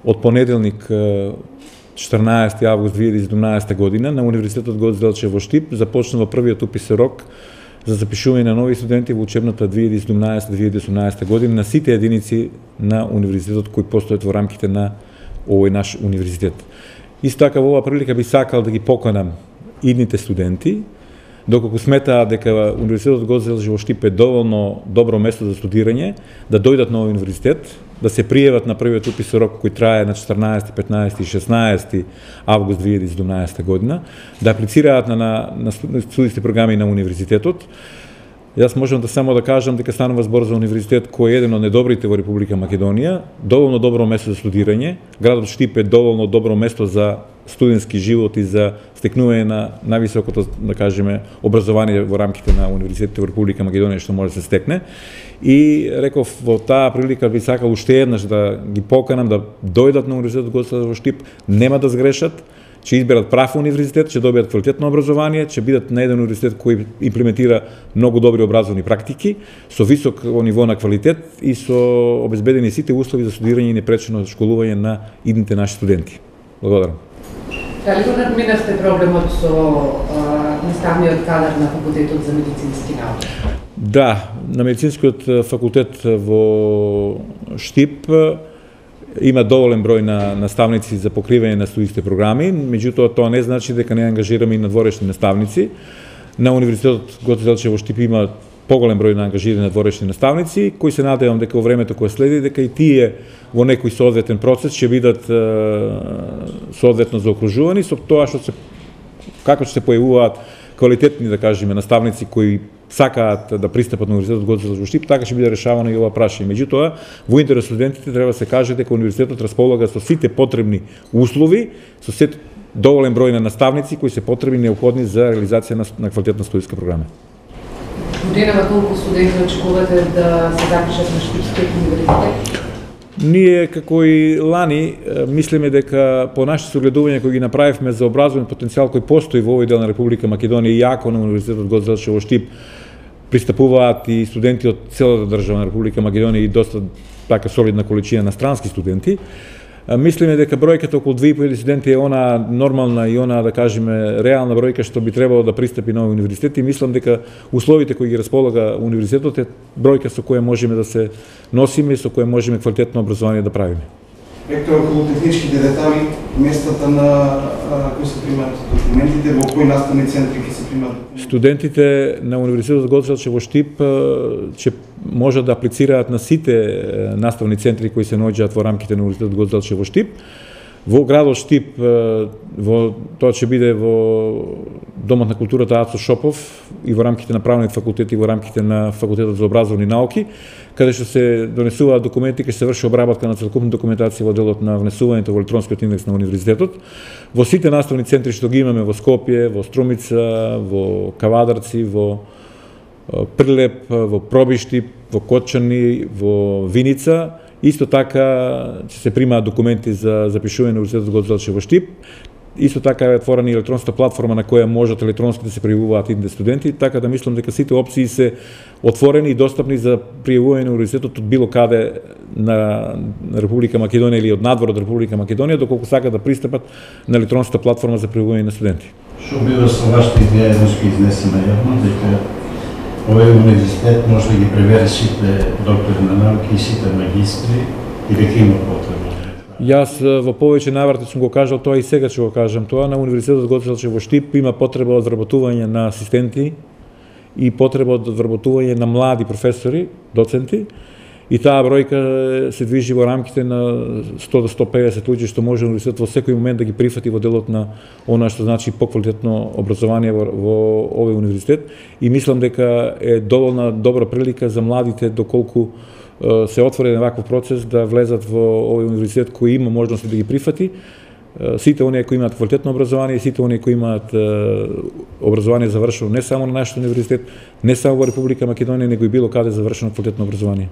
од понеделник 14. август 2017 година на Универзитетот Гоце Делчев во Штип започнува првиот уписен рок за запишување на нови студенти во учебната 2017-2018 година на сите единици на универзитетот кои постојат во рамките на овој наш универзитет. Исто така во оваа прилика би сакал да ги поканам идните студенти, доколку сметаат дека Универзитетот Гоце Делчев во Штип е доволно добро место за студирање, да дојдат на овој универзитет, да се пријават на првиот уписен рок кој трае на 14, 15 и 16 август 2017 година, да аплицираат на студиски програми на универзитетот. Јас можам да само да кажам дека станува збор за универзитет кој е еден од најдобрите во Република Македонија, доволно добро место за студирање. Градот Штип е доволно добро место за студентски живот и за стекнување на највисокото, да кажеме, образование во рамките на универзитетите во Република Македонија што може да се стекне. И реков во таа прилика би сакал уште еднаш да ги поканам да дојдат на Универзитетот Гоце Делчев во Штип, нема да сгрешат, ќе изберат прав универзитет, ќе добијат квалитетно образование, ќе бидат на еден универзитет кој имплементира многу добри образовни практики, со високо ниво на квалитет и со обезбедени сите услови за студирање и непречено школување на идните наши студенти. Благодарам. Дали го надминавте проблемот со наставниот кадар на факултетот за медицински науки? Да, на медицинскиот факултет во Штип има доволен број на наставници за покривање на студиските програми, меѓутоа тоа не значи дека не ангажираме и надворешни наставници. На Универзитетот Гоце Делчев во Штип има поголем број на ангажирани надворешни наставници, кои се надевам дека во времето кое следи, дека и тие во некој соодветен процес ќе бидат соодветно заокружувани со тоа што се како ќе се појавуваат квалитетни, да кажеме, наставници кои сакаат да пристапат на Универзитетот Гоце Делчев во Штип, така ќе биде решавано и ова прашање. Меѓутоа, во интерес студентите треба да се каже дека универзитетот располага со сите потребни услови, со сите доволен број на наставници кои се потребни и неопходни за реализација на квалитетна студиска програма. Годинава колку студенти очекувате да се запишат на Штипскиот универзитет? Ние, како и лани, мислиме дека по нашите согледувања кои ги направивме за образовен потенцијал кој постои во овој дел на Република Македонија и ако на Универзитетот Гоце Делчев во Штип пристапуваат и студенти од целата држава на Република Македонија и доста така солидна количина на странски студенти, мислиме дека бројката околу 2500 студенти е она нормална и она, да кажеме, реална бројка што би требало да пристапи на овој универзитет и мислам дека условите кои ги располага универзитетот е бројка со која можеме да се носиме и со која можеме квалитетно образование да правиме. Ректор, околу техничките детали, местата на кои се примаат документите, во кои наставни центри ќе се примаат документите? Студентите на Универзитетот Гоце Делчев во Штип ќе можат да аплицираат на сите наставни центри кои се наоѓаат во рамките на Универзитетот Гоце Делчев во Штип. Во градот Штип, тоа ќе биде во Домот на културата Ацо Шопов и во рамките на правниот факултет и во рамките на факултетот за образовни науки, каде што се донесуваат документи, ќе се врши обработка на целокупна документација во делот на внесувањето во електронскиот индекс на универзитетот. Во сите наставни центри што ги имаме во Скопје, во Струмица, во Кавадарци, во Прилеп, во Пробиштип, во Котчани, во Виница, исто така ќе се примаат документи за запишување на Универзитетот Гоце Делчев во Штип. Исто така е отворена и електронска платформа на која можат електронски да се пријавуваат идните студенти, така да мислам дека сите опции се отворени и достапни за пријавување на универзитетот од било каде на Република Македонија или од надвор од Република Македонија, доколку сакат да пристапат на електронската платформа за пријавување на студенти. Што бива со вашата идеја да ќе изнесеме јавно дека овој универзитет може да ги превери сите доктори на науки и сите магистри и дека има потреба? Јас во повеќе наврати сум го кажал тоа и сега ќе го кажам тоа. На Универзитетот Гоце Делчев во Штип има потреба од вработување на асистенти и потреба од вработување на млади професори, доценти. И таа бројка се движи во рамките на 100 до 150 луѓе што може универзитетот во секој момент да ги прифати во делот на она што значи поквалитетно образование во овој универзитет. И мислам дека е доволна добра прилика за младите доколку се отвори ваков процес да влезат во овој универзитет кој има можности да ги прифати. Сите оние кои имаат квалитетно образование, сите оние кои имаат образование завршено не само на нашиот универзитет, не само во Република Македонија, него и било каде завршено квалитетно образование.